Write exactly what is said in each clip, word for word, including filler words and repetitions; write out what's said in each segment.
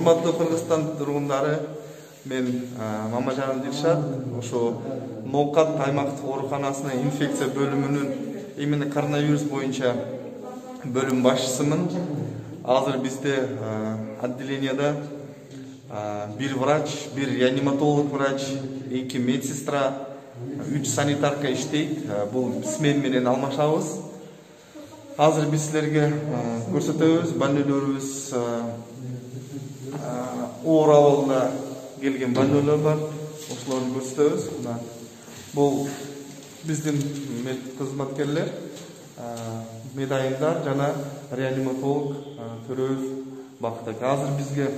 Урматтуу Кыргызстан тургундары, мен Мамажанов Дилшат, ошо Ноокат аймактык ооруканасынын инфекция бөлүмүнүн именно коронавирус боюнча бөлүм башчысымын. Азыр бизде отделенияда бир врач, бир реаниматолог врач, эки медсестра, үч санитарка иштейт. Бул смен менен алмашабыз. Азыр биз силерге көрсөтөбүз, больнойлорубуз оор абалда келген больнойлор бар. Ошолорду көрсөтөбүз. Бул биздин кызматкерлер, медайымдар жана реаниматолог төрөбүз бактык. Азыр бизге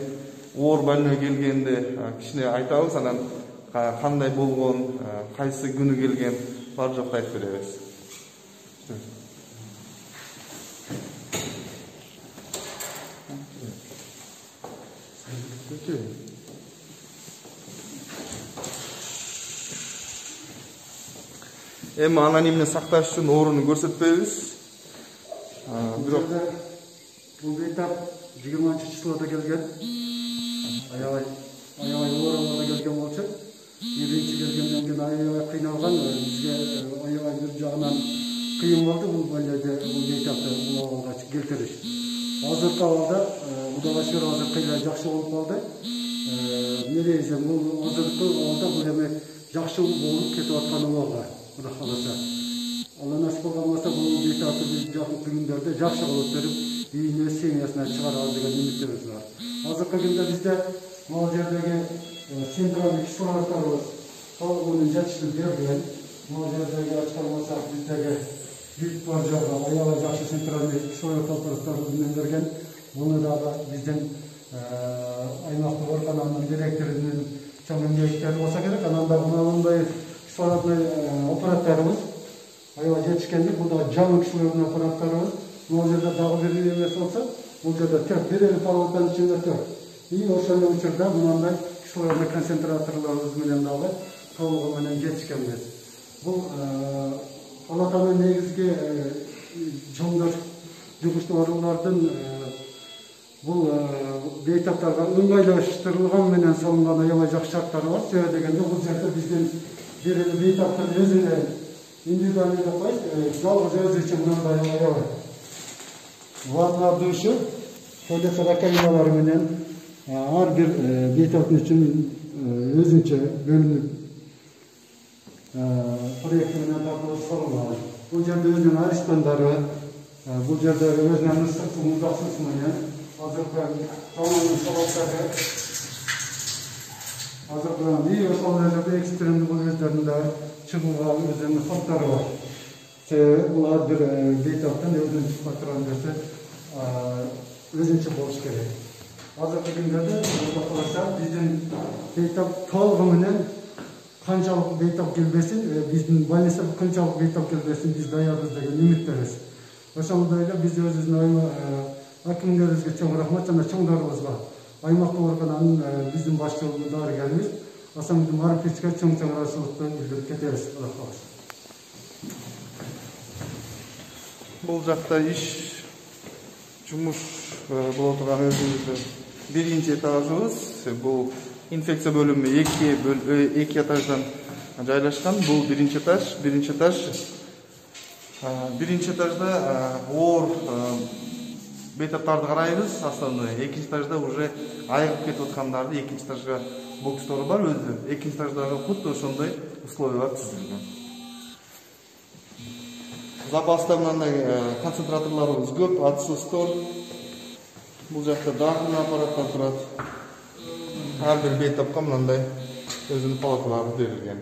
оор больной келгенде кичине айтабыз, анан кандай болгон, кайсы күнү келген бар жокту айтып беребиз. Эми анонимне сакташ үчүн ооруну көрсөтпөйбүз. Бирок бул бейтап жыйырманчы числода келген. Аябай аябай оор абалда келген болчу. Биринчи келгенден кийин аябай кыйналган, бизге аябай бир жагынан кыйын болду бул больнойду, бул бейтапты бул абалга келтириш. Азыркы абалда Кудайга шүгүр азыр кыйла жакшы болуп калды. Негизи бул азыркы абалда бул эми жакшы болуп кетип аткан абалга Кудай кааласа. Алла насип болгон болсо бул бейтапты биз жакынкы күндөрдө жакшы болуп берип, үйүнө семьясына чыгарабыз деген үмүтүбүз бар. Азыркы күндө бизде могу жердеги централдык кислороддорубуз толугу жетиштирип берилген. Могу жердеги ачкан болсак биздеги бүт бар жагы аябай жакшы централдык кислород аппараттары менен берген. Буну дагы биздин аймактык оорукананын директорунун чоң эмгектери болсо керек. Анан да мындай кислородный аппараттарыбыз аябай жетишкендик. Бул да жаңы кислородный аппараттарыбыз. Могу жерде дагы бир эмес болсо, бул жерде төрт бир эле палатанын ичинде төрт. И ошол учурда мындай кислородный концентраторлорубуз менен дагы толугу менен жетишкенбиз. Бул палатанын негизги чоңдор жугуштуулардын бул бейтаптарга ыңгайлаштырылган менен салынган аябай жакшы шарттары бар. Себеби дегенде бул жерде биздин бир эле бейтаптын өзүнө индивидуальный деп коет, жалгыз өзү үчүн мындай аябай ванна душу, туалет раковиналары менен ар бир бейтаптын үчүн өзүнчө бөлүнүп проект менен тартылып салынган. Бул жерде өзүнүн арестанттары, бул жерде өзүнүн ысык суу, муздак суусу менен азыркы тамагын салаттары, азыркы и ошол жерде экстремдүү бул өздөрүндө чыгууга өзүнүн фактору бар. Себеби бул ар бир бейтаптын өзүнүн факторун берсе өзүнчө болуш керек. Азыркы күндөрдө Кудай кааласа биздин бейтап толугу менен канчалык бейтап келбесин, биздин больницага канчалык бейтап келбесин биз даярбыз деген үмүттөбүз. Ошондой эле биз өзүбүздүн акимдерибизге чоң рахмат жана чоңдорубузга, аймактык оорукананын биздин башчылыгы дарыгерибиз Асамбек Марифовичке чоң-чоң ыраазычылыкты билдирип кетебиз. Кудай кааласа. Бул жакта иш жумуш боло турган өзүбүздүн биринчи этажыбыз. Бул инфекция бөлүмү эки эки этаждан жайлашкан. Бул биринчи этаж, биринчи этаж. Биринчи этажда оор бейтаптарды карайбыз, основной. Экинчи этажда уже айыгып кетип аткандарды, экинчи этажга бокстор бар өзү. Экинчи этаждагы кутта ошондой условиялар түзүлгөн. Запаста мындай концентраторлорубуз көп, отсутствор. Бул жакта дагы аппараттар турат. Ар бир бейтапка мындай өзүнүн палаталары берилген.